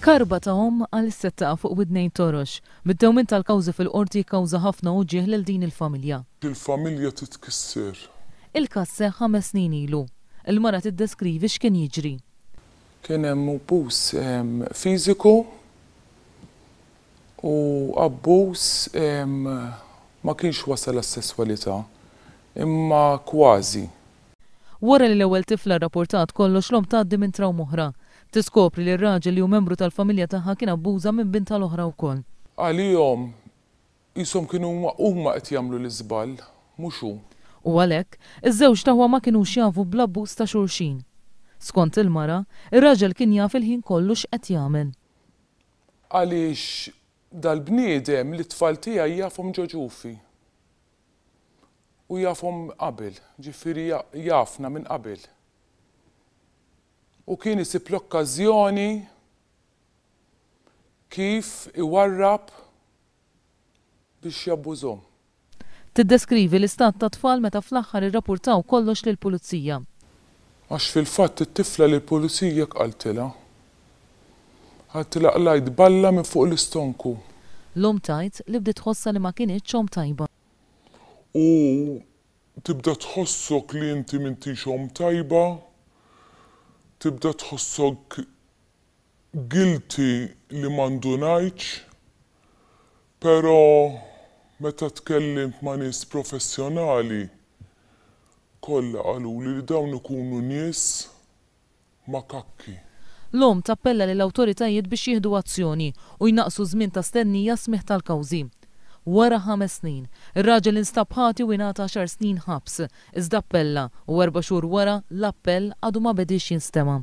Karba ta' omm għalissa taqa' fuq widnejn torox. Mid-dewmien tal-kawżi fil-Qorti jikkawża ħafna uġigħ lil din il-familja. Il-familja titkisser. Il-każ seħħ ħames snin ilu. Il-mara tiddeskrivi x'kien jiġri. Kien hemm abbuż fiżiku u abbuż ma kienx wasal għas-sesswalità imma kważi. Wara li l-ewwel tifla rrapportat kollox l-omm tgħaddi minn trawma oħra. Tiskopri li r-raġel li hu membru tal-familja tagħha kien abbuża minn bintha l-oħra wkoll. Għalihom qishom kienu huma huma qed jagħmlu l-iżball, mhux hu. U għalhekk, iż-żewġt aħwa ma kinux jafu bl-abbuż ta' xulxin. Skont il-mara, ir-raġel kien jaf il-ħin kollu x'qed jagħmel. Għaliex dal-bniedem lit-tfal tiegħi jafhom ġo ġufi. U jafhom qabel, ġifieri jafna minn qabel. U kien isib l-okkażjoni kif iwarrab biex jabbużhom. Tiddeskrivi l-istat tat-tfal meta fl-aħħar irrapurtaw kollox lill-Pulizija. Għax fil-fatt it-tifla lill-Pulizija hekk qaltilha. Qaltilha qlajt balla minn fuq l-istonku. L-omm tgħid li bdiet tħossha li ma kinitx omm tajba. U tibda tħossok li inti m'intix omm tajba, tibda tħossok guilty li ma ndunajtx, però meta tkellimt ma' nies professjonali kollha qaluli li dawn ikunu nies makakki. L-omm tappella lill-awtoritajiet biex jieħdu azzjoni u jnaqqsu ż-żmien ta' stennija għas-smigħ tal-kawżi. Wara ħames snin, ir-raġel instab ħati u ingħata għaxar snin ħabs, iżda appella u erba' xhur wara, l-appell għadu ma bediex jinstema'.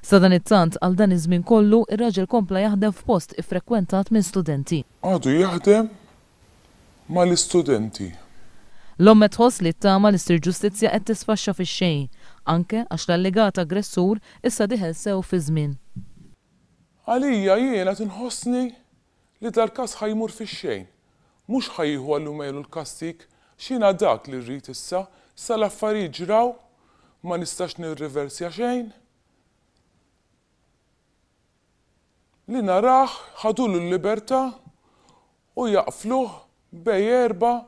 Sadanittant, għal dan iż-żmien kollu, ir-raġel kompla jaħdem f'post iffrekwentat minn studenti. Għadu jaħdem mal-istudenti. L-omm qed tħoss li t-tama li ssir ġustizzja qed tisfaxxa fix-xejn, anke għax l-allegat aggressur issa dieħel sew fiż-żmien. Għalija jien qed inħossni li dal-każ ħa jmur fix-xejn. Mhux ħa jieħu għall-umelu l-kastig, x'jiena dak li rrid issa, issa l-affarijiet ġraw, ma nistax nirriversja xejn. Li narah ħadulu l-libertà u jaqfluh bejn erba'.